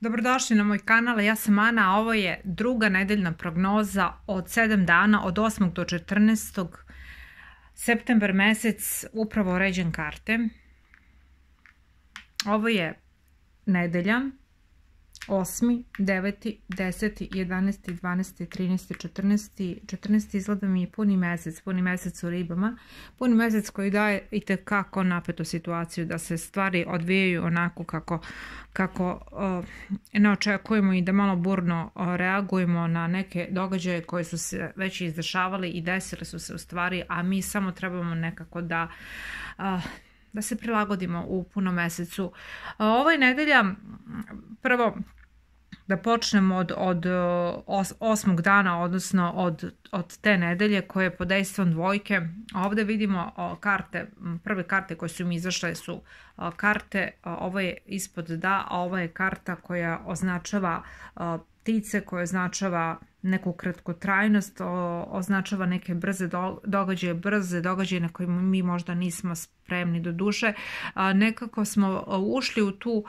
Dobrodošli na moj kanal, ja sam Ana, a ovo je druga nedeljna prognoza od 7 dana, od 8. do 14. septembar mesec, upravo ređen karte. Ovo je nedelja, 8., 9., 10., 11., 12., 13., 14. 14. izgleda mi je puni mesec u ribama, puni mesec koji daje itekako napetu situaciju da se stvari odvijaju onako kako ne očekujemo i da malo burno reagujemo na neke događaje koje su se već izdešavali i desile su se u stvari, a mi samo trebamo nekako da se prilagodimo u punom mesecu. Ovo je nedelja, prvo da počnemo od 8. dana, odnosno od te nedelje koje je pod dejstvom dvojke. Ovdje vidimo karte, prve karte koje su mi izašle su karte, ovo je ispod da, a ovo je karta koja označava ptice, koja označava neku kratkotrajnost, označava neke brze događaje na koje mi možda nismo spremni do duše. Nekako smo ušli u tu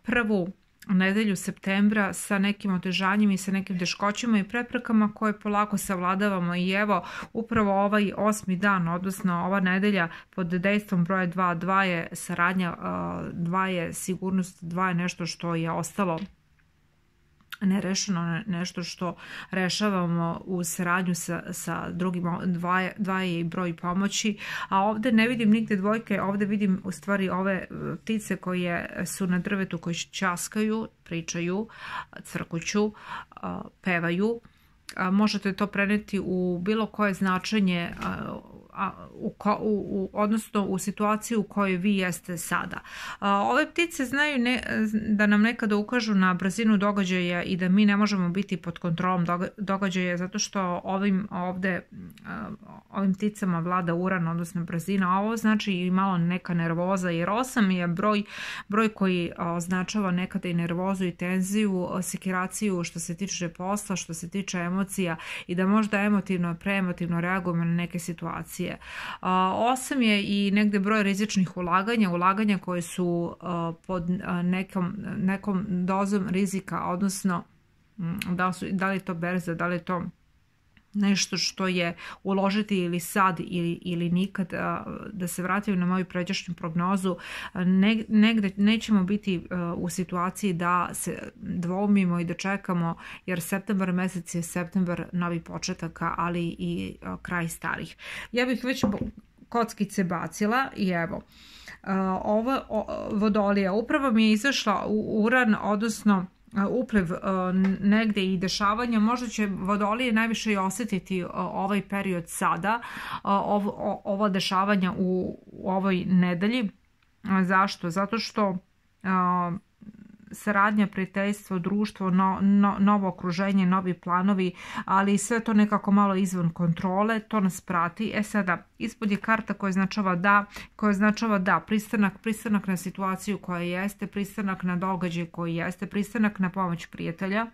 prvu nedelju septembra sa nekim otežanjima i sa nekim teškoćama i preprekama koje polako savladavamo i evo upravo ovaj 8. dan, odnosno ova nedelja pod dejstvom broja 2, 2 je saradnja, 2 je sigurnost, 2 je nešto što je ostalo nerešeno, nešto što rešavamo u saradnju sa drugim, 2 je i broj pomoći, a ovdje ne vidim nigde dvojke, ovdje vidim u stvari ove ptice koje su na drvetu, koje ćaskaju, pričaju, crkuću, pevaju. Možete to preneti u bilo koje značenje, odnosno u situaciju u kojoj vi jeste sada. Ove ptice znaju da nam nekada ukažu na brzinu događaja i da mi ne možemo biti pod kontrolom događaja zato što ovim pticama vlada Uran, odnosno brzina. Ovo znači i malo neka nervoza, jer 8 je broj koji označava nekada i nervozu i tenziju, sekiraciju što se tiče posla, što se tiče emocija i da možda preemotivno reagujemo na neke situacije. 8 je i negde broj rizičnih ulaganja koje su pod nekom dozom rizika, odnosno da li je to berza, da li je to nešto što je uložiti ili sad ili nikad. Da se vratim na moju pređašnju prognozu, negde nećemo biti u situaciji da se dvoumimo i da čekamo, jer septembar mesec je septembar novi početaka, ali i kraj starih. Ja bih već kockice bacila i evo, ovo Vodolija, upravo mi je izašla u Uran, odnosno upliv negde i dešavanja. Možda će Vodolije najviše i osjetiti ovaj period sada, ova dešavanja u ovoj nedelji. Zašto? Zato što saradnja, prijateljstvo, društvo, novo okruženje, novi planovi, ali sve to nekako malo izvan kontrole, to nas prati. Sada, ispod je karta koja označava da, pristanak na situaciju koja jeste, pristanak na događaj koji jeste, pristanak na pomoć prijatelja.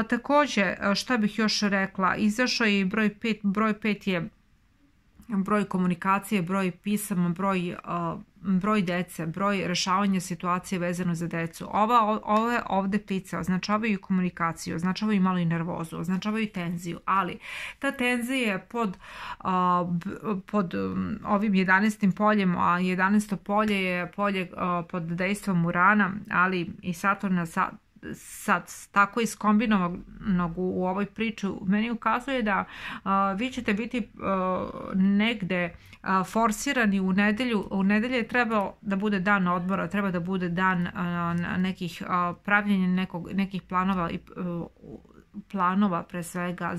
Također, šta bih još rekla, izašao je broj 5, broj 5 je broj komunikacije, broj pisama, broj dece, broj rešavanja situacije vezano za decu. Ove ovde ptice označavaju komunikaciju, označavaju malo i nervozu, označavaju tenziju, ali ta tenzija je pod ovim 11. poljem, a 11. polje je polje pod dejstvom Urana, ali i Saturna sad tako iskombinovanog u ovoj priči meni ukazuje da vi ćete biti negde forsirani u nedelju. U nedelje je trebao da bude dan odmora, treba da bude dan nekih pravljenja nekih planova pre svega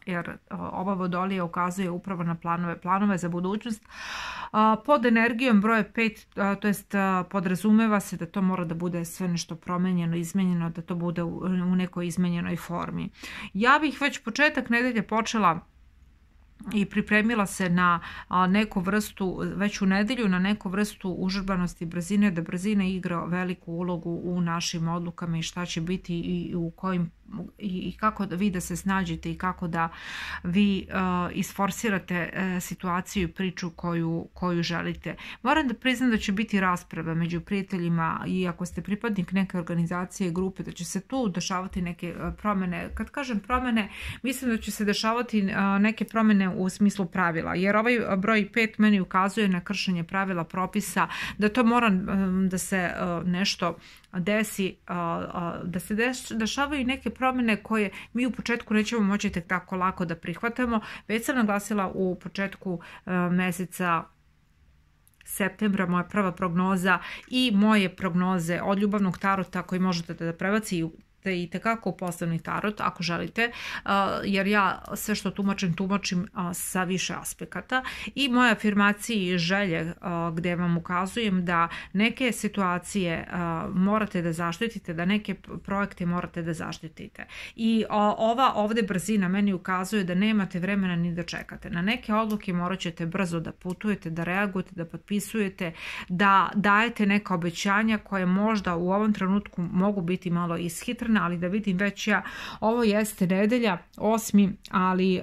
jer ova Vodolija ukazuje upravo na planove za budućnost. Pod energijom broje 5, to jest podrazumeva se da to mora da bude sve nešto promenjeno, izmenjeno, da to bude u nekoj izmenjenoj formi. Ja bih već početak nedelje počela i pripremila se na neku vrstu, već u nedelju, na neku vrstu užurbanosti brzine, da brzina igra veliku ulogu u našim odlukama i šta će biti i u kojim i kako da vi da se snađete i kako da vi isforsirate situaciju i priču koju želite. Moram da priznam da će biti rasprava među prijateljima i ako ste pripadnik neke organizacije i grupe, da će se tu dešavati neke promene. Kad kažem promene, mislim da će se dešavati neke promene u smislu pravila, jer ovaj broj 5 meni ukazuje na kršenje pravila, propisa, da to mora da se nešto desi, da se dešavaju neke promene koje mi u početku nećemo moći tek tako lako da prihvatamo. Već sam naglasila u početku meseca septembra moja prva prognoza i moje prognoze od ljubavnog tarota koji možete da prebacite i tekako u poslovni tarot ako želite, jer ja sve što tumačim sa više aspekata, i moje afirmacije i želje gdje vam ukazujem da neke situacije morate da zaštitite, da neke projekte morate da zaštitite. I ova ovdje brzina meni ukazuje da nemate vremena ni da čekate. Na neke odluke morat ćete brzo da putujete, da reagujete, da potpisujete, da dajete neka obećanja koje možda u ovom trenutku mogu biti malo ishitrene, ali da vidim već ja, ovo jeste nedelja 8. ali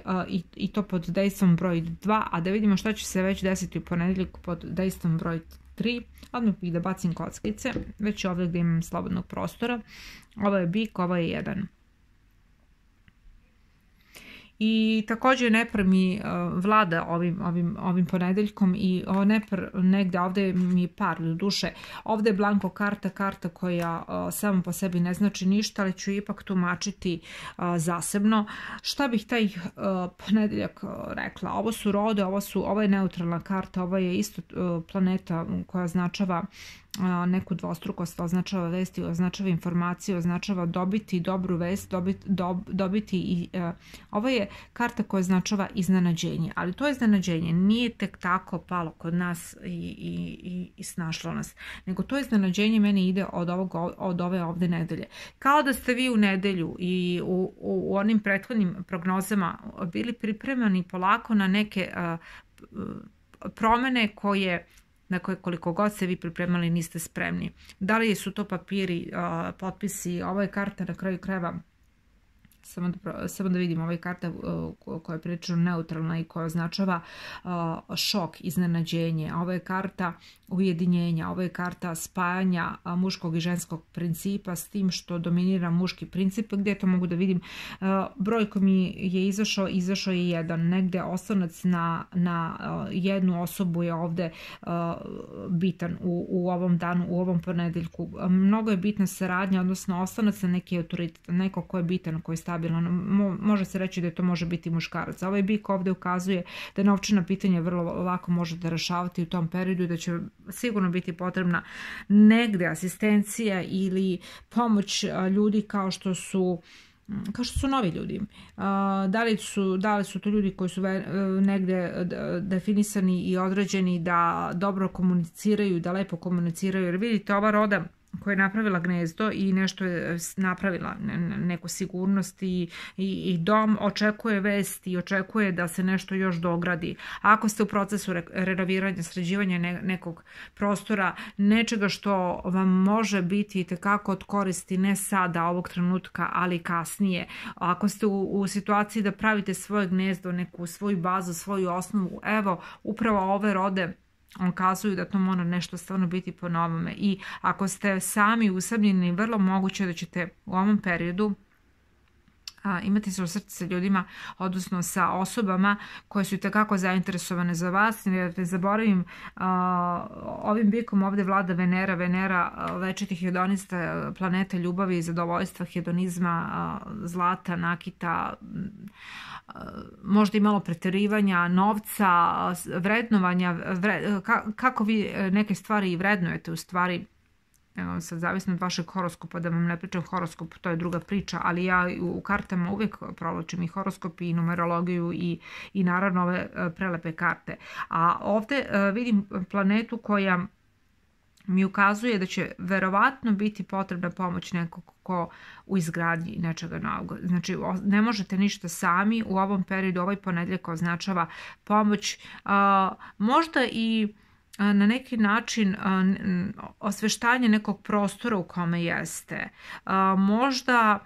i to pod dejstvom broj 2, a da vidimo šta će se već desiti u ponedjeljak pod dejstvom broj 3. Odmah bih da bacim kockice, već ovdje gdje imam slobodnog prostora. Ovo je bik, ovo je 1. I također Nepr mi vlada ovim ponedeljkom i negdje ovdje mi je par do duše. Ovdje je blanko karta koja samo po sebi ne znači ništa, ali ću ipak tumačiti zasebno. Šta bih taj ponedeljak rekla? Ovo su rode, ovo je neutralna karta, ovo je isto planeta koja označava neku dvostrukost, označava vesti, označava informacije, označava dobiti dobru vest, dobiti i ovo je karta koja označava iznenađenje, ali to iznenađenje nije tek tako palo kod nas i snašlo nas, nego to iznenađenje meni ide od ove ovdje nedelje. Kao da ste vi u nedelju i u onim prethodnim prognozama bili pripremani polako na neke promjene na koje koliko god se vi pripremali niste spremni. Da li su to papiri, potpisi, ovo je karta na kraju krajeva, samo da vidim, ovo je karta koja je prilično neutralna i koja označava šok, iznenađenje. Ovo je karta ujedinjenja, ovo je karta spajanja muškog i ženskog principa s tim što dominira muški princip. Gdje to mogu da vidim? Broj koji mi je izašao je 1. Negdje oslonac na jednu osobu je ovdje bitan u ovom danu, u ovom ponedeljku. Mnogo je bitna saradnja, odnosno oslonac na neki autoritet, neko ko je bitan, ko je stabilan. Može se reći da to može biti muškarac. Ovaj bik ovdje ukazuje da novčana pitanja vrlo lako možete rešavati u tom periodu i da će sigurno biti potrebna negdje asistencija ili pomoć ljudi kao što su novi ljudi. Da li su to ljudi koji su negdje definisani i određeni da dobro komuniciraju, da lepo komuniciraju, jer vidite ova roda koja je napravila gnezdo i nešto je napravila, neku sigurnost i dom, očekuje vest i očekuje da se nešto još dogradi. Ako ste u procesu renoviranja, sređivanja nekog prostora, nečega što vam može biti itekako od koristi ne sada, ovog trenutka, ali kasnije. Ako ste u situaciji da pravite svoje gnezdo, neku svoju bazu, svoju osnovu, evo, upravo ove rode kazuju da to mora nešto stvarno biti po novome. I ako ste sami usamljeni, vrlo moguće da ćete u ovom periodu imati se u srcu sa ljudima, odnosno sa osobama koje su itekako zainteresovane za vas. Ne zaboravim, ovim bikom ovdje vlada Venera, večiti hedonista, planeta ljubavi i zadovoljstva, hedonizma, zlata, nakita, možda i malo preterivanja, novca, vrednovanja, kako vi neke stvari i vrednujete u stvari. Evo, sad zavisno od vašeg horoskopa, da vam ne pričam horoskop, to je druga priča, ali ja u kartama uvijek provlačim i horoskop i numerologiju i naravno ove prelepe karte. A ovdje vidim planetu koja mi ukazuje da će verovatno biti potrebna pomoć nekog ko u izgradnji nečega novog. Znači, ne možete ništa sami u ovom periodu. Ovaj ponedjeljak označava pomoć, možda i na neki način osveštanje nekog prostora u kome jeste. Možda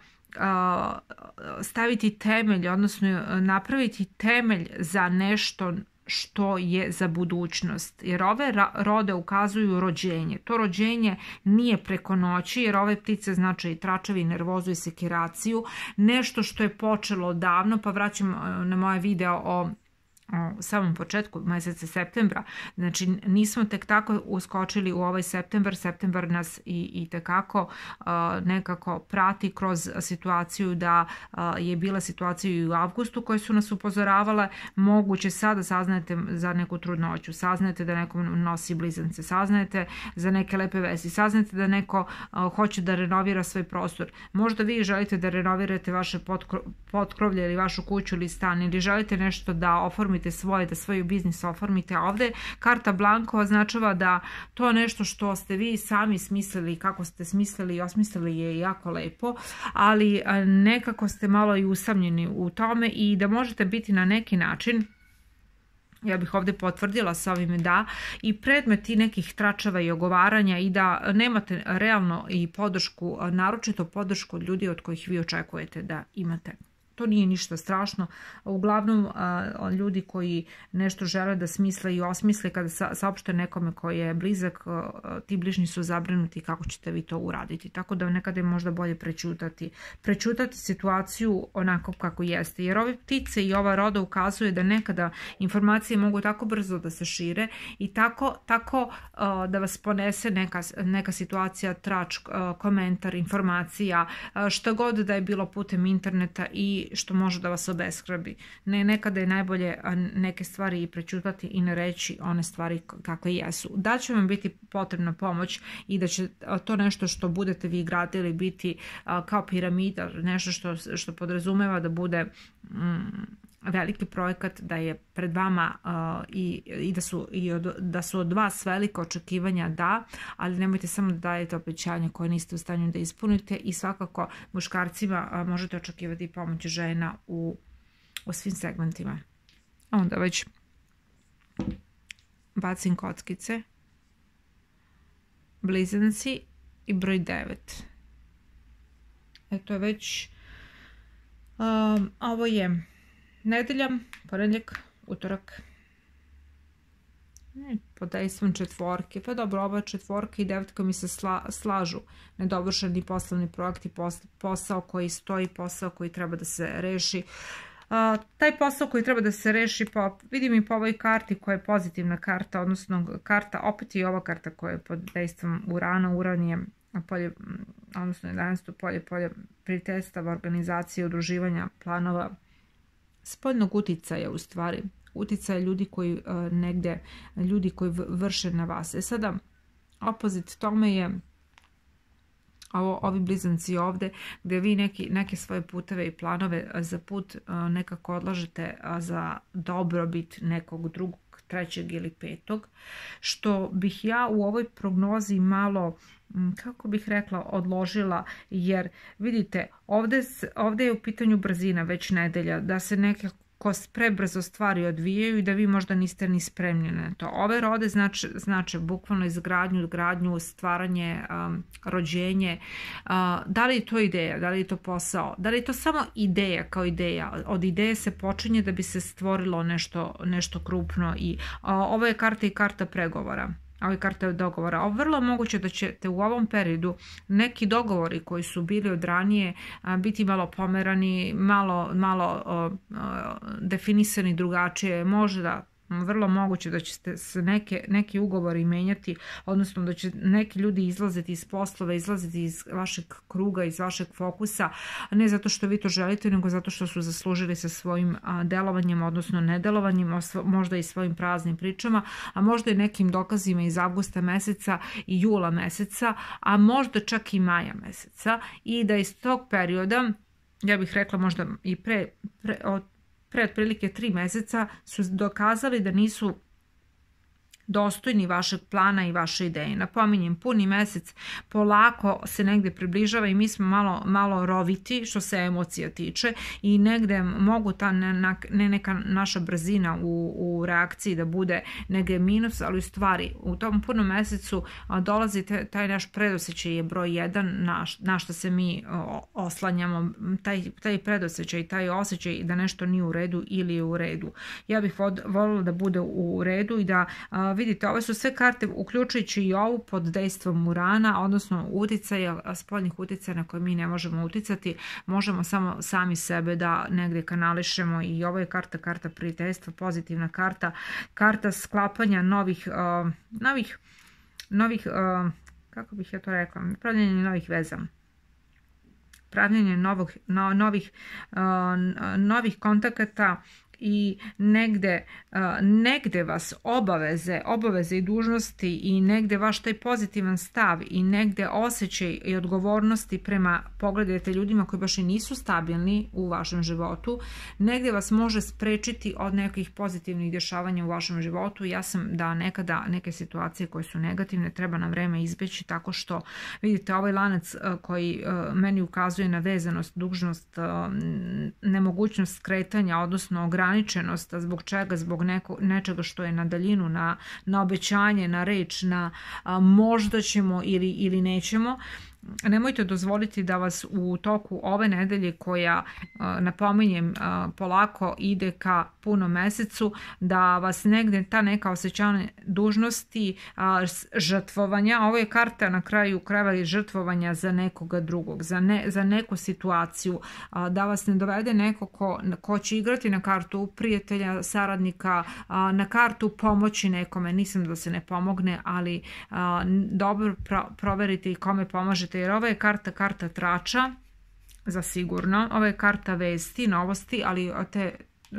staviti temelj, odnosno napraviti temelj za nešto što je za budućnost. Jer ove rode ukazuju rođenje. To rođenje nije preko noći, jer ove ptice znače i tračevi, nervozu i sekiraciju. Nešto što je počelo davno, pa vraćam na moje video o samom početku mjeseca septembra. Znači nismo tek tako uskočili u ovaj septembar. Septembar nas i tekako nekako prati kroz situaciju da je bila situacija i u avgustu koje su nas upozoravale. Moguće sada saznajete za neku trudnoću, saznajete da neko nosi blizance, saznajete za neke lepe vesti, saznajete da neko hoće da renovira svoj prostor. Možda vi želite da renovirate vaše potkrovlje ili vašu kuću ili stan, ili želite nešto da oformite da svoj biznis oformite. Ovdje karta Blanko označava da to nešto što ste vi sami smislili, kako ste smislili i osmislili je jako lepo, ali nekako ste malo i usamljeni u tome i da možete biti na neki način, ja bih ovdje potvrdila sa ovim da, i predmeti nekih tračeva i ogovaranja i da nemate realno i podršku, naročito podršku od ljudi od kojih vi očekujete da imate. To nije ništa strašno. Uglavnom, ljudi koji nešto žele da smisle i osmisle, kada saopšte nekome koji je blizak, ti bližnji su zabrinuti kako ćete vi to uraditi. Tako da nekada je možda bolje prećutati situaciju onako kako jeste. Jer ove ptice i ova roda ukazuje da nekada informacije mogu tako brzo da se šire i tako da vas ponese neka situacija, trač, komentar, informacija, šta god da je bilo putem interneta i što može da vas obeshrabi. Nekada je najbolje neke stvari i prećutati i ne reći one stvari kakve jesu. Da će vam biti potrebna pomoć i da će to nešto što budete vi gradili biti kao piramida, nešto što podrazumeva da bude veliki projekat, da je pred vama i da su od vas velika očekivanja, da, ali nemojte samo da dajete obećanja koje niste u stanju da ispunite i svakako muškarcima možete očekivati pomoć žena u svim segmentima. Onda već bacim kockice, blizanci i broj 9. Eto je već ovo je nedelja, ponedjeljak, utorak. Pod dejstvom četvorke. Pa dobro, ova četvorka i devetka mi se slažu. Nedovršeni poslovni projekti, posao koji stoji, posao koji treba da se reši. Taj posao koji treba da se reši, vidim i po ovoj karti koja je pozitivna karta, odnosno karta, opet i ova karta koja je pod dejstvom Urana. Uran je polje, odnosno 11. polje prijateljstava, organizacije, udruživanja, planova, spoljnog uticaja, u stvari uticaja ljudi koji ljudi koji vrše na vas. Sada opozit tome je ovi blizanci ovdje, gdje vi neke svoje puteve i planove za put nekako odlažete za dobrobit nekog drugog, trećeg ili petog, što bih ja u ovoj prognozi malo, kako bih rekla, odložila, jer vidite, ovdje je u pitanju brzina već nedelja, da se nekako prebrzo stvari odvijaju i da vi možda niste ni spremni na to. Ove rode znače bukvalno izgradnju, stvaranje, rođenje. Da li je to ideja, da li je to posao, da li je to samo ideja kao ideja. Od ideje se počinje da bi se stvorilo nešto krupno i ovo je karta i karta pregovora. Ovo je karta dogovora. Vrlo moguće da ćete u ovom periodu neki dogovori koji su bili od ranije biti malo pomerani, malo definisani drugačije, možda vrlo moguće da ćete se neki ugovori menjati, odnosno da će neki ljudi izlaziti iz poslova, izlaziti iz vašeg kruga, iz vašeg fokusa, ne zato što vi to želite, nego zato što su zaslužili sa svojim delovanjem, odnosno nedelovanjem, možda i svojim praznim pričama, a možda i nekim dokazima iz avgusta meseca i jula meseca, a možda čak i maja meseca, i da iz tog perioda, ja bih rekla možda i pre otprilike 3 meseca, su dokazali da nisu dostojni vašeg plana i vaše ideje. Napominjem, puni mesec polako se negde približava i mi smo malo roviti što se emocija tiče i negde mogu ta neka naša brzina u reakciji da bude negde minus, ali u stvari u tom punom mesecu dolazi taj naš predosjećaj je broj 1 na što se mi oslanjamo, taj predosjećaj, taj osjećaj da nešto nije u redu ili je u redu. Ja bih voljela da bude u redu i da vidite, ove su sve karte, uključujući i ovu pod dejstvom Urana, odnosno uticaja, spoljnih uticaja na koje mi ne možemo uticati, možemo samo sami sebe da negde kanališemo i ovo je karta prijateljstva, pozitivna karta sklapanja novih, kako bih ja to rekla, pravljenje novih veza. Pravljenje novih kontakata i negde vas obaveze i dužnosti i negde vaš taj pozitivan stav i negde osjećaj i odgovornosti prema, pogledajte, ljudima koji baš i nisu stabilni u vašem životu, negde vas može sprečiti od nekih pozitivnih dešavanja u vašem životu. Ja sam da nekada neke situacije koje su negativne treba na vreme izbeći tako što vidite ovaj lanac koji meni ukazuje na vezanost, dužnost, nemogućnost skretanja, odnosno ograničenost. Zbog čega? Zbog nečega što je na daljinu, na obećanje, na reč, na možda ćemo ili nećemo. Nemojte dozvoliti da vas u toku ove nedelje koja, napominjem, polako ide ka punom mesecu, da vas negde ta neka osjećanja dužnosti, žrtvovanja, ovo je karta na kraju krajeva žrtvovanja za nekoga drugog, za neku situaciju, da vas ne dovede neko ko će igrati na kartu prijatelja, saradnika, na kartu pomoći nekome. Nisam da se ne pomogne, ali dobro proverite i kome pomažete, jer ova je karta trača, zasigurno. Ova je karta vesti, novosti, ali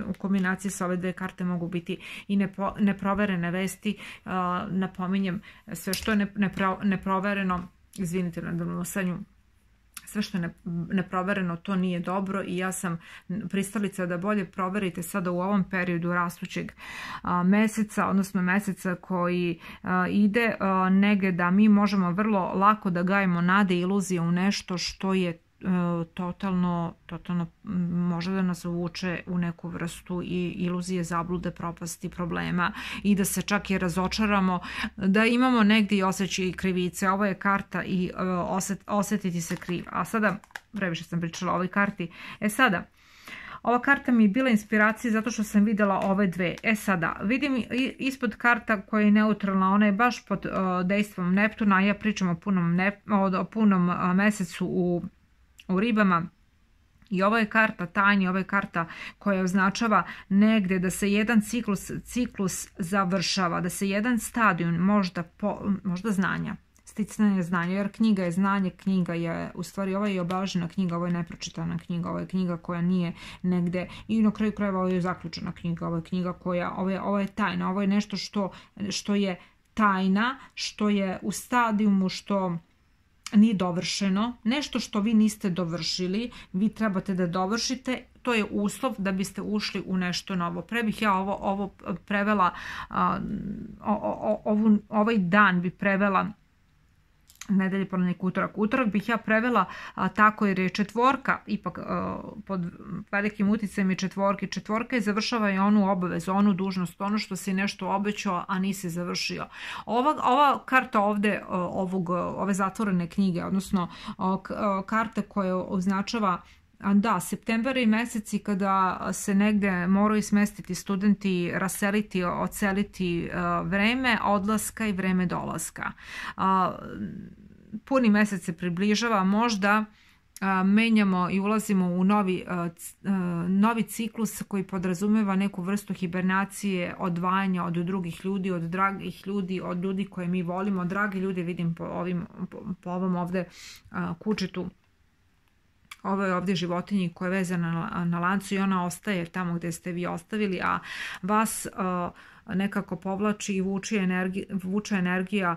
u kombinaciji sa ove dve karte mogu biti i neproverene vesti. Napominjem, sve što je neprovereno, izvinite na donosanju, sve što je neprovereno, to nije dobro i ja sam pristalica da bolje proverite sada u ovom periodu rastućeg meseca, odnosno meseca koji ide negdje, da mi možemo vrlo lako da gajimo nade i iluzije u nešto što je totalno može da nas uvuče u neku vrstu i iluzije, zablude, propasti, problema i da se čak i razočaramo, da imamo negdje i osjećaj krivice. Ovo je karta i osjetiti se kriv. A sada, previše sam pričala o ovoj karti. Sada, ova karta mi je bila inspiracija zato što sam vidjela ove dve. Sada, vidim ispod karta koja je neutralna, ona je baš pod dejstvom Neptuna, a ja pričam o punom mesecu u ribama. I ovo je karta tajni, ovo je karta koja označava negde da se jedan ciklus završava, da se jedan stadijum možda znanja, sticanje znanja, jer knjiga je znanje, knjiga je, u stvari ovo je obeležena knjiga, ovo je nepročitana knjiga, ovo je knjiga koja nije negde i na kraju krajeva ovo je zaključena knjiga, ovo je knjiga koja, ovo je tajna, ovo je nešto što je tajna, što je u stadijumu, što nije dovršeno, nešto što vi niste dovršili, vi trebate da dovršite, to je uslov da biste ušli u nešto novo. Pre bih ja ovo prevela, ovaj dan bi prevela, nedelje, ponedjeljak, utorak bih ja prevela tako, jer je četvorka ipak pod velikim uticajem je četvorke. Četvorka je završava i onu obavezu, onu dužnost, ono što si nešto obećao, a nisi završio. Ova karta ovde, ove zatvorene knjige, odnosno karta koja označava septembar i meseci kada se negde moraju smestiti studenti, raseliti, oceliti, vreme odlaska i vreme dolaska. Puni mesec se približava, možda menjamo i ulazimo u novi ciklus koji podrazumeva neku vrstu hibernacije, odvajanja od drugih ljudi, od dragih ljudi, od ljudi koje mi volimo. Dragi ljudi vidim po ovom ovde kučitu, ovo je ovdje životinji koja je vezana na lancu i ona ostaje tamo gdje ste vi ostavili, a vas nekako povlači i vuče energija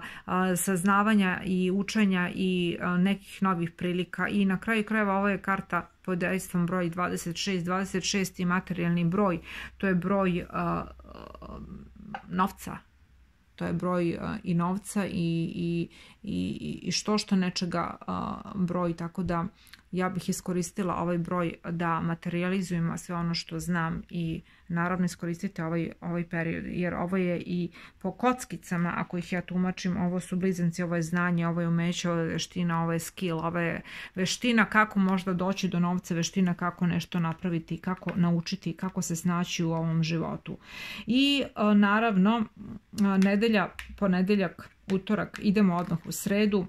saznavanja i učenja i nekih novih prilika. I na kraju krajeva ovo je karta pod dejstvom broj 26. 26 je materijalni broj, to je broj novca. to je broj i novca i što nečega broj, tako da ja bih iskoristila ovaj broj da materializujem sve ono što znam i naravno iskoristite ovaj period, jer ovo je i po kockicama, ako ih ja tumačim, ovo su blizanci, ovo je znanje, ovo je umeće, ovo je veština, ovo je skill, ovo je veština kako možda doći do novca, veština kako nešto napraviti, kako naučiti, kako se snaći u ovom životu. I naravno nedelja, ponedeljak, utorak, idemo odmah u sredu,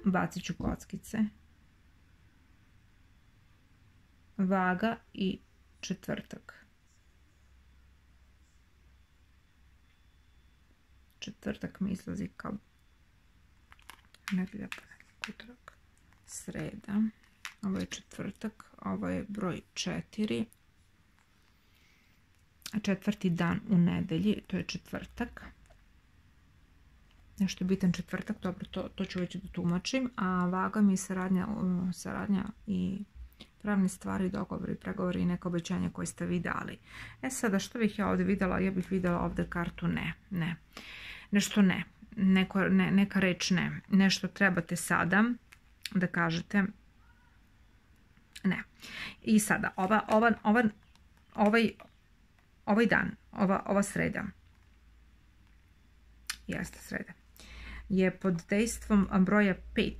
bacit ću kockice, vaga i četvrtak. Četvrtak mi izlazi kao nedelja, ponedeljak, utorak, sreda. Ovo je četvrtak, ovo je broj 4. Četvrti dan u nedelji, to je četvrtak. Nešto je bitan četvrtak, dobro, to ću već da tumačim. A vaga mi je saradnja i pravne stvari, dogovori, pregovori i neka obećanja koje ste vi dali. Sada što bih ja ovdje vidjela? Ja bih vidjela ovdje kartu ne. Nešto ne. Neka reč ne. Nešto trebate sada da kažete ne. I sada, ovaj dan, ova sreda, jeste sreda, je pod dejstvom broja 5,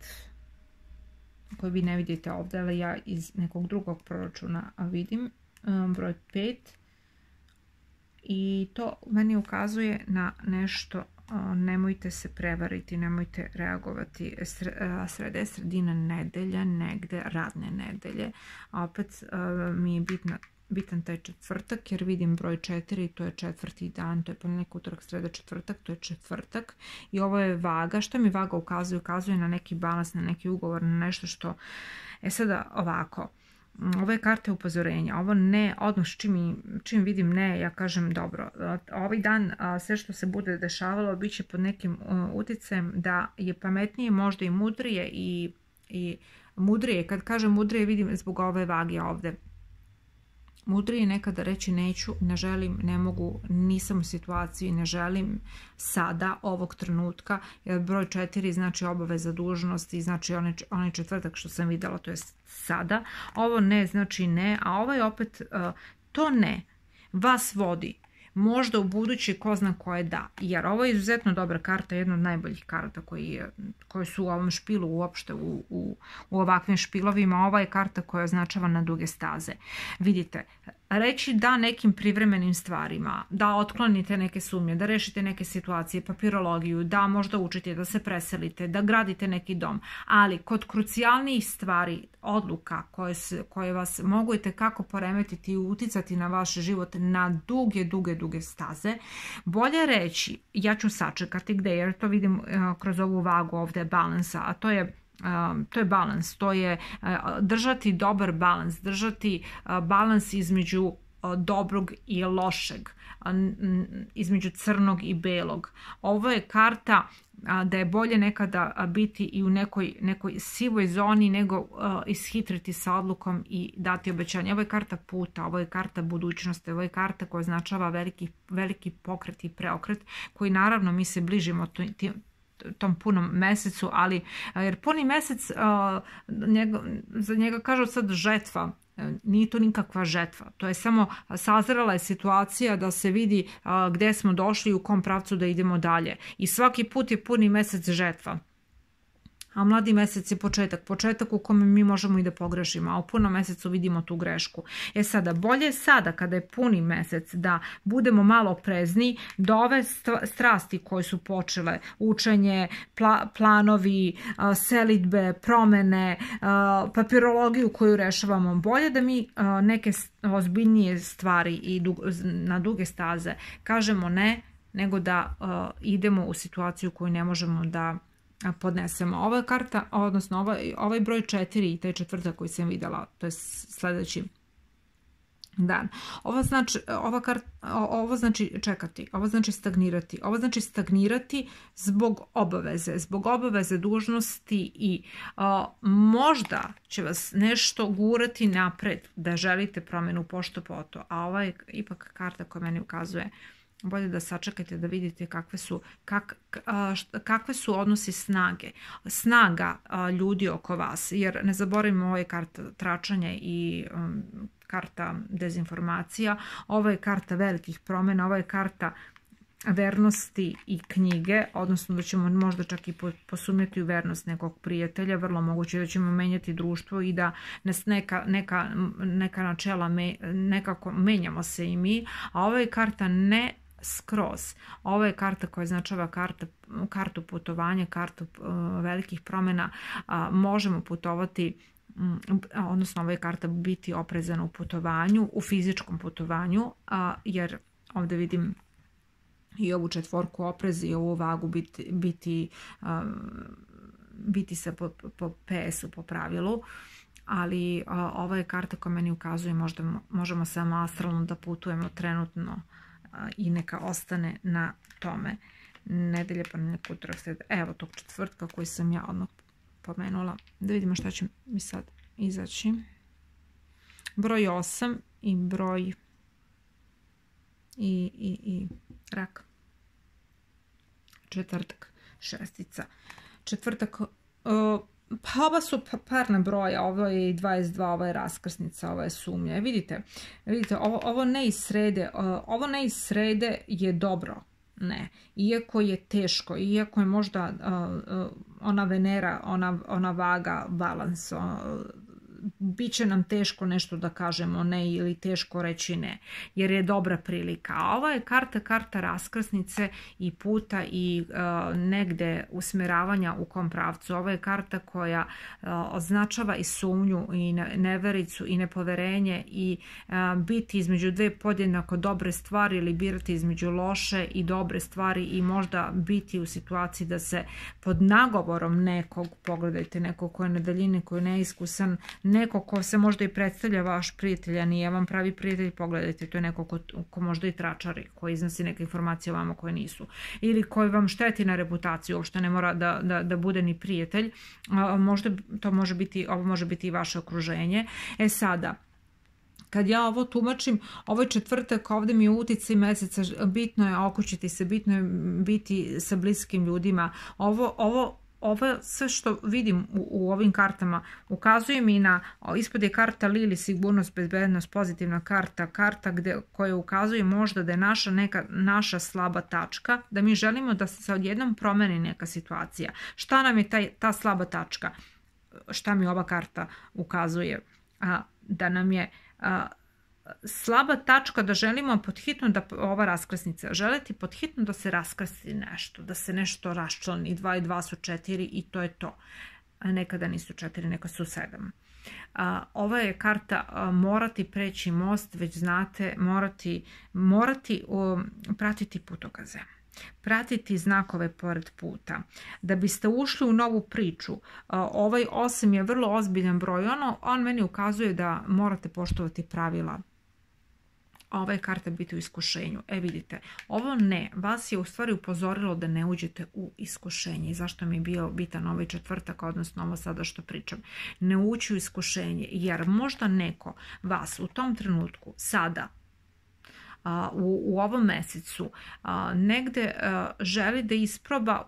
koji vi ne vidite ovdje, ali ja iz nekog drugog proračuna vidim broj 5 i to meni ukazuje na nešto. Nemojte se prevariti, nemojte reagovati. Sreda je sredina nedelja, negde radne nedelje, a opet mi je bitan taj četvrtak, jer vidim broj 4 i to je četvrti dan, to je ponedjeljak, utorak, sreda, četvrtak, to je četvrtak i ovo je vaga. Što mi vaga ukazuje? Ukazuje na neki balans, na neki ugovor, na nešto što... Sada ovako, ovo je karta upozorenja, ovo ne, odmah čim vidim ne, ja kažem dobro, ovaj dan sve što se bude dešavalo bit će pod nekim utjecajem da je pametnije, možda i mudrije i mudrije, kad kažem mudrije vidim zbog ove vage ovdje. Mudrije je nekada reći neću, ne želim, ne mogu, nisam u situaciji, ne želim sada, ovog trenutka, jer broj 4 znači obaveza, dužnost i znači onaj četvrtak što sam vidjela, to je sada. Ovo ne znači ne, a ovaj opet to ne vas vodi. Možda u budući ko zna koje da, jer ovo je izuzetno dobra karta, jedna od najboljih karta koje su u ovom špilu uopšte, u ovakvim špilovima. Ova je karta koja označava na duge staze. Vidite, reći da nekim privremenim stvarima, da otklonite neke sumnje, da rešite neke situacije, papirologiju, da možda učite, da se preselite, da gradite neki dom, ali kod krucijalnijih stvari, odluka koje vas mogu i tekako poremetiti i uticati na vaš život na duge staze, bolje reći, ja ću sačekati gde, jer to vidim kroz ovu vagu ovdje balansa, a to je balans, to je držati dobar balans, držati balans između dobrog i lošeg, između crnog i belog. Ovo je karta da je bolje nekada biti i u nekoj sivoj zoni nego ishitriti sa odlukom i dati obećanje. Ovo je karta puta, ovo je karta budućnosti, ovo je karta koja označava veliki pokret i preokret, koji naravno mi se bližimo tom punom mesecu, ali jer puni mesec za njega kažu sad žetva, nije to nikakva žetva, to je samo sazrela je situacija da se vidi gde smo došli i u kom pravcu da idemo dalje i svaki put je puni mesec žetva. A mladi mesec je početak u kome mi možemo i da pogrešimo, a u punom mesecu vidimo tu grešku. Sada, bolje sada kada je puni mesec da budemo malo oprezni, da ove strasti koje su počele, učenje, planovi, selidbe, promene, papirologiju koju rešavamo, bolje da mi neke ozbiljnije stvari i na duge staze kažemo ne, nego da idemo u situaciju koju ne možemo da podnesemo. Ova karta, odnosno ovaj broj 4 i taj četvrtak koji sam vidjela, to je sljedeći dan. Ovo znači čekati, ovo znači stagnirati. Ovo znači stagnirati zbog obaveze, dužnosti i možda će vas nešto gurati napred da želite promjenu pošto poto, a ova je ipak karta koja meni ukazuje bolje da sačekate da vidite kakve su odnosi snaga ljudi oko vas, jer ne zaboravimo, ovo je karta tračanja i karta dezinformacija, ovo je karta velikih promjena, ovo je karta vernosti i knjige, odnosno da ćemo možda čak i posumnjati u vernost nekog prijatelja, vrlo moguće da ćemo menjati društvo i da nas neka načela nekako menjamo se i mi, a ovo je karta ne skroz. Ovo je karta koja označava kartu putovanja, kartu velikih promjena. Možemo putovati, odnosno ovo je karta biti oprezana u putovanju, u fizičkom putovanju, jer ovdje vidim i ovu četvorku opreza i ovu vagu biti se po PS-u, po pravilu, ali ovo je karta koja meni ukazuje možemo samo astralno da putujemo trenutno i neka ostane na tome. Nedelja, ponedjeljak, utorak, srijeda. Evo tog četvrtka koji sam ja odmah pomenula. Da vidimo šta će mi sad izaći. Broj 8 i broj i rak. Četvrtak, šestica. Četvrtak, pa ova su parna broja, ovo je 22, ovo je raskrsnica, ovo je sumnja. Vidite, ovo ne iz srede je dobro. Ne, iako je teško, iako je možda ona Venera, ona vaga, balans, bit će nam teško nešto da kažemo ne ili teško reći ne, jer je dobra prilika. A ova je karta raskrsnice i puta i negde usmeravanja u kom pravcu. Ova je karta koja označava i sumnju i nevericu i nepoverenje i biti između dve podjednako dobre stvari ili birati između loše i dobre stvari i možda biti u situaciji da se pod nagovorom nekog, pogledajte, nekog ko je na daljini, ko je neiskusan, neko ko se možda i predstavlja vaš prijatelj, a nije vam pravi prijatelj, pogledajte, to je neko ko možda i tračari, koji iznosi neke informacije o vama koje nisu, ili koji vam šteti na reputaciju, uopšte ne mora da bude ni prijatelj, možda to ovo može biti i vaše okruženje. Sada, kad ja ovo tumačim, ovaj četvrtak, ovdje mi je uticaj meseca, bitno je okućiti se, bitno je biti sa bliskim ljudima. Ovo sve što vidim u ovim kartama ukazuje mi na, ispod je karta Lili, sigurnost, bezbednost, pozitivna karta koja ukazuje možda da je naša slaba tačka, da mi želimo da se odjednom promeni neka situacija. Šta nam je ta slaba tačka? Šta mi ova karta ukazuje? Da nam je slaba tačka, da želimo podhitno ova raskrsnica, želiti podhitno da se raskrsti nešto, da se nešto raščlani, 2 i 2 su 4 i to je to. Nekada nisu 4, neka su 7. Ova je karta morati preći most, već znate, morati pratiti putokaze. Pratiti znakove pored puta. Da biste ušli u novu priču, ovaj 8 je vrlo ozbiljan broj, on meni ukazuje da morate poštovati pravila. Ova je karta biti u iskušenju. Vidite, ovo ne, vas je u stvari upozorilo da ne uđete u iskušenje. I zašto mi je bio bitan ovaj četvrtak, odnosno ovo sada što pričam. Ne ući u iskušenje, jer možda neko vas u tom trenutku, sada, u ovom mesecu, negde želi da isproba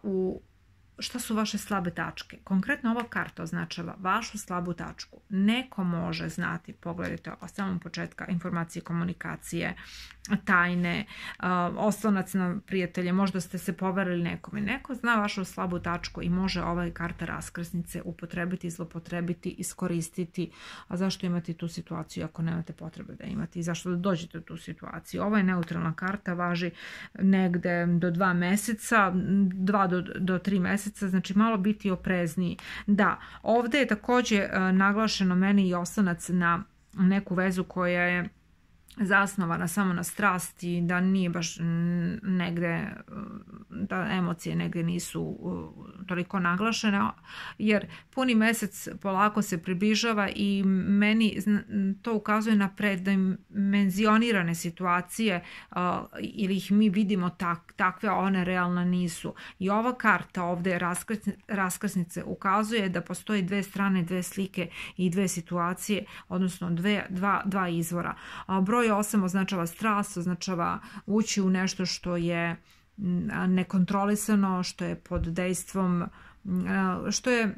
šta su vaše slabe tačke. Konkretno ova karta označava vašu slabu tačku. Neko može znati, pogledajte od samog početka, informacije, komunikacije, tajne, oslonac na prijatelje, možda ste se poverili nekome. Neko zna vašu slabu tačku i može ova karta raskrsnice upotrebiti, zlopotrebiti, iskoristiti. A zašto imati tu situaciju ako nemate potrebe da imate i zašto da dođete u tu situaciju? Ova je neutralna karta, važi negde do 2 meseca, 2 do 3 meseca, znači malo biti oprezniji. Da, ovdje je također naglašeno meni i oslonac na neku vezu koja je zasnovana samo na strasti, da nije baš negde, da emocije negde nisu toliko naglašene, jer puni mesec polako se približava i meni to ukazuje na predimenzionirane situacije ili ih mi vidimo takve, a one realno nisu. I ova karta ovdje raskrsnice ukazuje da postoji dve strane, dve slike i dve situacije, odnosno dva izvora. Broj broj 8 označava strast, označava ući u nešto što je nekontrolisano, što je pod dejstvom, što je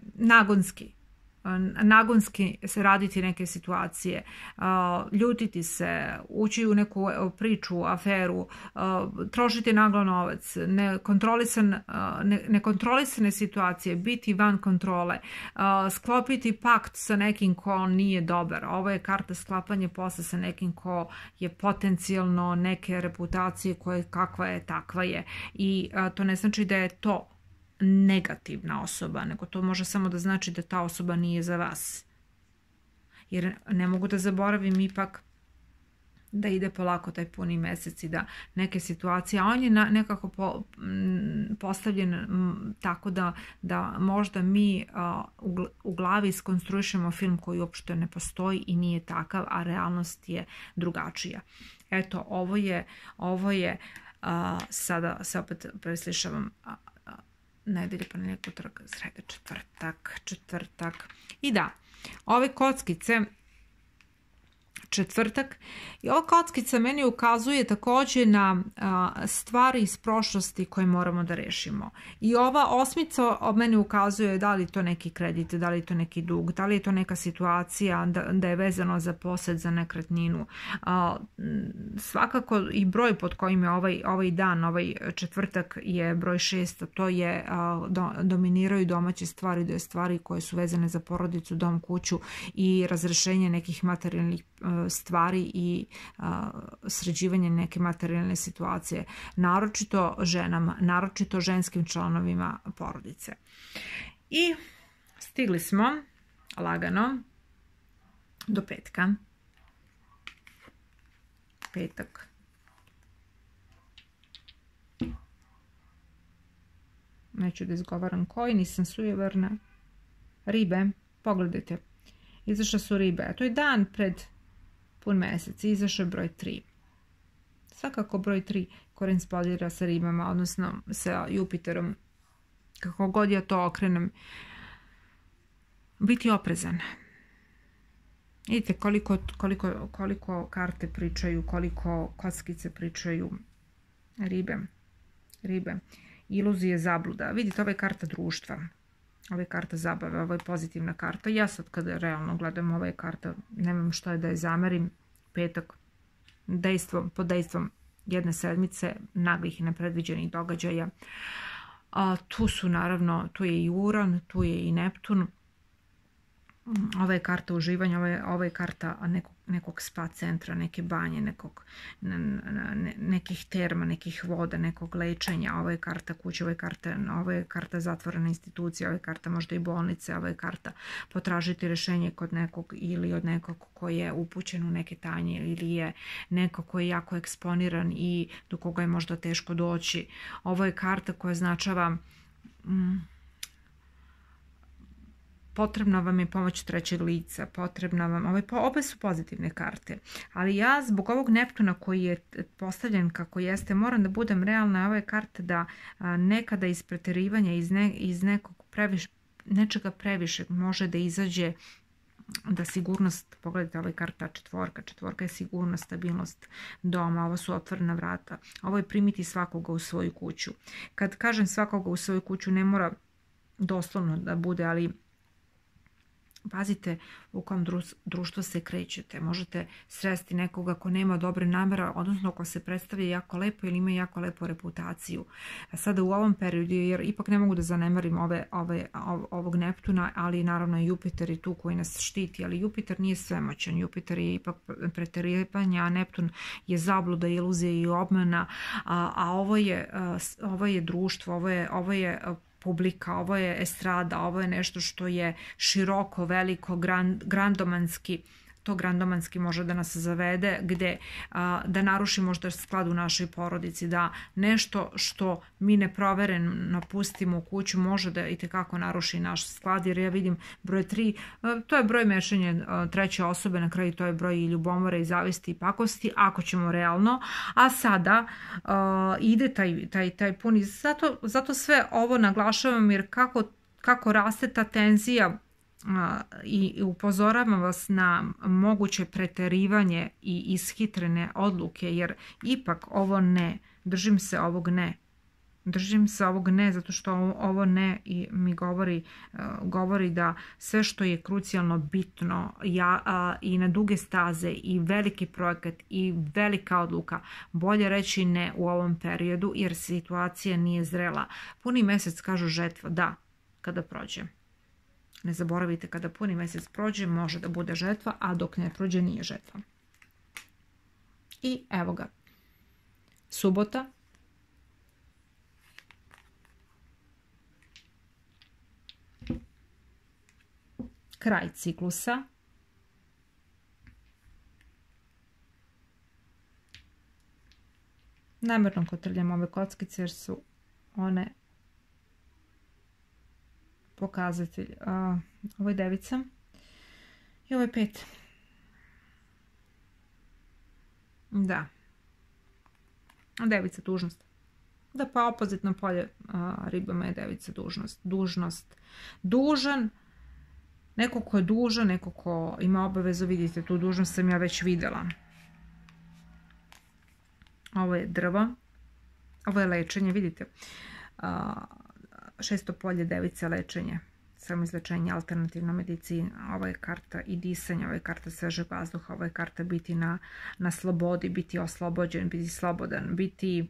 nagonski se raditi neke situacije, ljutiti se, ući u neku priču, aferu, trošiti naglo novac, nekontrolisane situacije, biti van kontrole, sklopiti pakt sa nekim ko nije dobar. Ovo je karta sklapanje posla sa nekim ko je potencijalno neke reputacije koje kakva je, takva je. I to ne znači da je to negativna osoba, nego to može samo da znači da ta osoba nije za vas. Jer ne mogu da zaboravim ipak da ide polako taj puni mesec i da neke situacije, a on je nekako postavljen tako da možda mi u glavi iskonstruišemo film koji uopšte ne postoji i nije takav, a realnost je drugačija. Eto, ovo je sada se opet preslišavam nedelje, ponedjeljak, utorak, sreda, četvrtak. I da, ove kockice, četvrtak, i ova kockica meni ukazuje također na stvari iz prošlosti koje moramo da rešimo. I ova osmica meni ukazuje da li to neki kredit, da li to neki dug, da li je to neka situacija da je vezano za posed, za nekretninu. Svakako i broj pod kojim je ovaj dan, ovaj četvrtak je broj 6, to je dominiraju domaće stvari, da je stvari koje su vezane za porodicu, dom, kuću i razrešenje nekih materijalnih stvari i sređivanje neke materijalne situacije, naročito ženama, naročito ženskim članovima porodice. I stigli smo lagano do petka. Petak. Neću da izgovaram koji, nisam sujeverna. Ribe, pogledajte. Izašle su ribe, a to je dan pred pun mesec, izašao je broj 3. Svakako broj 3 korespondira sa ribama, odnosno sa Jupiterom. Kako god ja to okrenem, biti oprezan. Vidite koliko karte pričaju, koliko kockice pričaju. Ribe. Iluzije, zabluda. Vidite, ovo je karta društva. Ovo je karta zabave, ovo je pozitivna karta. Ja sad kada realno gledam, ovo je karta, nemam što je da je zamerim. Petak, pod dejstvom jedne sedmice, naglih i nepredviđenih događaja. Tu su naravno, tu je i Uran, tu je i Neptun. Ovo je karta uživanja, ovo je karta nekog spa centra, neke banje, nekih terma, nekih voda, nekog lečenja. Ovo je karta kuće, ovo je karta zatvorene institucije, ovo je karta možda i bolnice, ovo je karta potražiti rešenje kod nekog ili od nekog ko je upućen u neke tanje ili je neko ko je jako eksponiran i do koga je možda teško doći. Ovo je karta koja označava potrebna vam je pomoć trećeg lica, potrebna vam, obe su pozitivne karte, ali ja zbog ovog Neptuna koji je postavljen kako jeste, moram da budem realna. Ove karte da nekada iz preterivanja, iz nečega previše može da izađe da sigurnost, pogledajte, ovo je karta četvorka je sigurnost, stabilnost doma, ovo su otvorena vrata, ovo je primiti svakoga u svoju kuću. Kad kažem svakoga u svoju kuću, ne mora doslovno da bude, ali pazite u kom društvu se krećete. Možete sresti nekoga ko nema dobre namere, odnosno ko se predstavlja jako lepo ili ima jako lepu reputaciju. A sada u ovom periodu, jer ipak ne mogu da zanemarim ovog Neptuna, ali naravno Jupiter je tu koji nas štiti, ali Jupiter nije svemoćan. Jupiter je ipak preterivanje, a Neptun je zabluda, iluzija i obmana, a ovo je društvo, ovo je publika, ovo je estrada, ovo je nešto što je široko, veliko, grandomanski. To grandomanski može da nas zavede gde da naruši možda sklad u našoj porodici, da nešto što mi neprovereno pustimo u kuću može da itekako naruši naš sklad, jer ja vidim broj 3, to je broj mešanja treće osobe, na kraju to je broj i ljubomore i zavisti i pakosti, ako ćemo realno, a sada ide taj puni, zato sve ovo naglašavam, jer kako raste ta tenzija i upozoravam vas na moguće preterivanje i ishitrene odluke, jer ipak ovo ne, držim se ovog ne. Držim se ovog ne zato što ovo ne i mi govori da sve što je krucijalno bitno i na duge staze i veliki projekat i velika odluka, bolje reći ne u ovom periodu jer situacija nije zrela. Puni mjesec kažu žetva, da, kada prođe. Ne zaboravite, kada puni mjesec prođe može da bude žetva, a dok ne prođe nije žetva. I evo ga. Subota. Kraj ciklusa. Namjerno kotrljam ove kockice jer su one pokazatelj. Ovo je devica i ovo je 5. Da. Devica dužnost. Da, pa opozitno polje ribama je devica dužnost. Dužan. Neko ko je dužan, neko ko ima obavezu, vidite, tu dužnost sam ja već vidjela. Ovo je drvo. Ovo je lečenje, vidite. 6. polje, devica, lečenje. Samoizlečenje, alternativna medicina. Ovo je karta i disanja, ovo je karta svežeg vazduha, ovo je karta biti na slobodi, biti oslobođen, biti slobodan, biti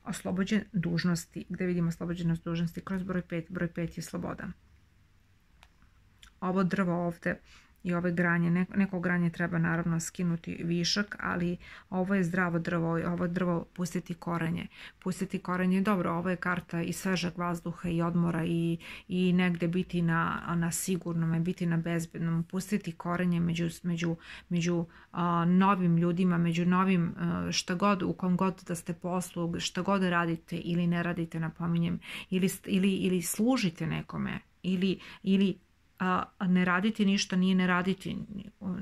oslobođen dužnosti. Gdje vidimo oslobođenost dužnosti? Kroz broj 5. Broj 5 je sloboda. Ovo drvo ovdje i ove granje, neko granje treba naravno skinuti višak, ali ovo je zdravo drvo, ovo drvo pustiti korenje. Pustiti korenje je dobro, ovo je karta i svežeg vazduha i odmora i negdje biti na sigurnom, biti na bezbednom, pustiti korenje među novim ljudima, među novim šta god, u kom god da ste poslu, šta god radite ili ne radite, napominjem, ili služite nekome, ili ne raditi ništa nije ne raditi,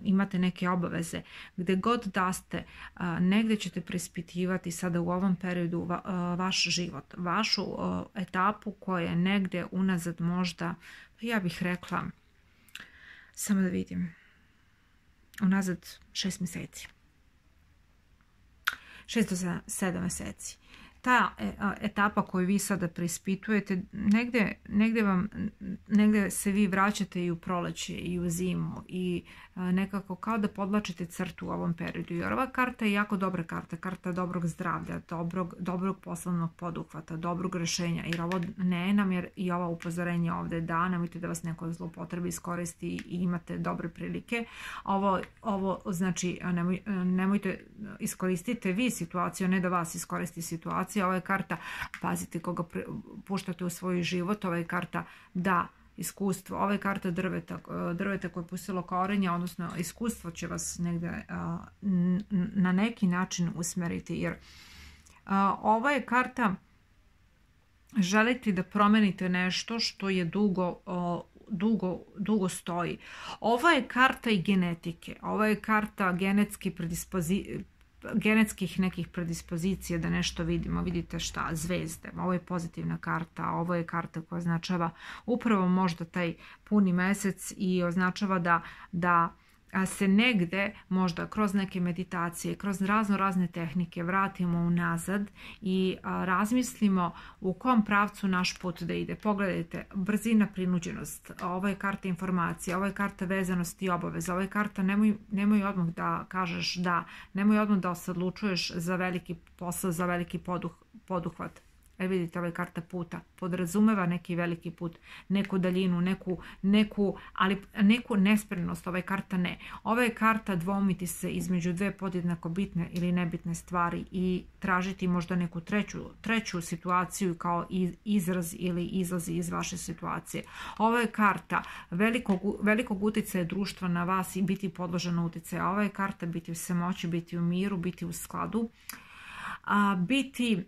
imate neke obaveze. Gdje god da ste, negdje ćete preispitivati sada u ovom periodu vaš život, vašu etapu koja je negdje unazad možda, ja bih rekla, samo da vidim, unazad 6 mjeseci. 6 do 7 mjeseci. Ta etapa koju vi sada preispitujete, negdje se vi vraćate i u proleće i u zimu i nekako kao da podlačite crtu u ovom periodu. Jer ova karta je jako dobra karta, karta dobrog zdravlja, dobrog poslovnog poduhvata, dobrog rješenja. Jer ovo ne nam jer i ova upozorenja ovdje da, nemojte da vas neko zloupotrebi iskoristi i imate dobre prilike. Ovo znači nemojte iskoristite vi situaciju, ne da vas iskoristi situacija. Ovo je karta, pazite koga puštate u svoj život, ovo je karta da iskustvo, ovo je karta drveta koje je pustilo korenja, odnosno iskustvo će vas negdje na neki način usmeriti, jer ovo je karta želite da promenite nešto što je dugo stoji. Ovo je karta i genetike, ovo je karta genetskih nekih predispozicija da nešto vidimo. Vidite šta? Zvezde. Ovo je pozitivna karta. Ovo je karta koja označava upravo možda taj puni mjesec i označava da se negde možda kroz neke meditacije, kroz razne tehnike vratimo unazad i razmislimo u kom pravcu naš put da ide. Pogledajte, brzina, prinuđenost, ovo je karta informacija, ovo je karta vezanosti i obaveza, ovo je karta nemoj odmah da kažeš da, nemoj odmah da se odlučuješ za veliki posao, za veliki poduhvat. Vidite, ovo je karta puta. Podrazumeva neki veliki put, neku daljinu, neku nespremnost. Ovo je karta ne. Ovo je karta dvoumiti se između dve podjednako bitne ili nebitne stvari i tražiti možda neku treću situaciju kao izraz ili izlazi iz vaše situacije. Ovo je karta velikog utjecaja društva na vas i biti podloženo utjecaja. Ovo je karta biti u samoći, biti u miru, biti u skladu, biti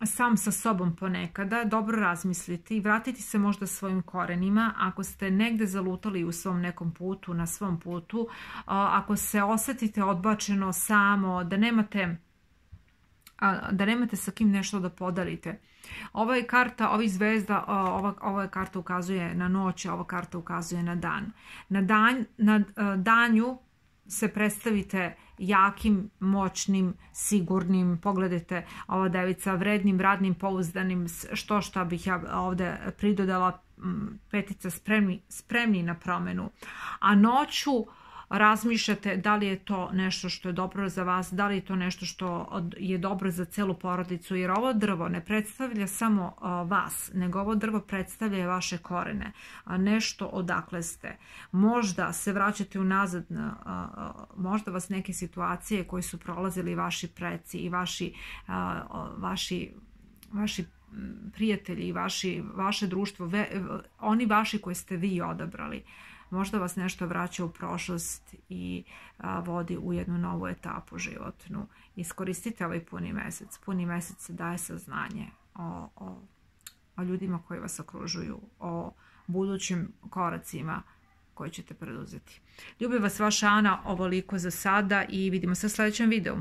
sam sa sobom ponekada, dobro razmisliti i vratiti se možda svojim korenima. Ako ste negdje zalutali u svom nekom putu, na svom putu, ako se osjetite odbačeno samo, da nemate da nemate sa kim nešto da podelite. Ova je karta, ovih zvezda, ova karta ukazuje na noć, ova karta ukazuje na dan. Na danju se predstavite jakim, moćnim, sigurnim, pogledajte ova devica, vrednim, radnim, pouzdanim, šta bih ja ovde pridodala, petica, spremni na promenu. A noću razmišljate da li je to nešto što je dobro za vas, da li je to nešto što je dobro za celu porodicu, jer ovo drvo ne predstavlja samo vas, nego ovo drvo predstavlja vaše korene, nešto odakle ste. Možda se vraćate unazad, možda vas neke situacije koje su prolazili vaši preci i vaši prijatelji i vaše društvo, oni vaši koje ste vi odabrali. Možda vas nešto vraća u prošlost i vodi u jednu novu etapu životnu. Iskoristite ovaj puni mesec. Puni mesec daje saznanje o ljudima koji vas okružuju, o budućim koracima koje ćete preduzeti. Ljubim vas, vaša Ana, ovoliko za sada i vidimo se u sljedećem videu.